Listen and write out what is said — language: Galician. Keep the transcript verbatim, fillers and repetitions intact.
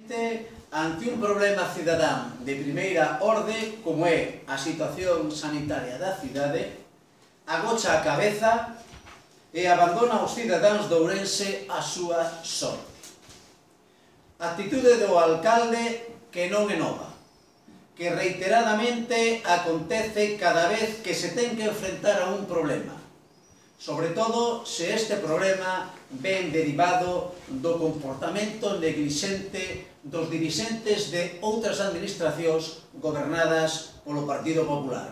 Finalmente, ante un problema cidadán de primeira orde, como é a situación sanitaria da cidade, agocha a cabeza e abandona aos cidadáns de Ourense a súa sorte. Actitude do alcalde que non é nova, que reiteradamente acontece cada vez que se ten que enfrentar a un problema, sobre todo se este problema ven derivado do comportamento neglixente dos dirixentes de outras administracións gobernadas polo Partido Popular.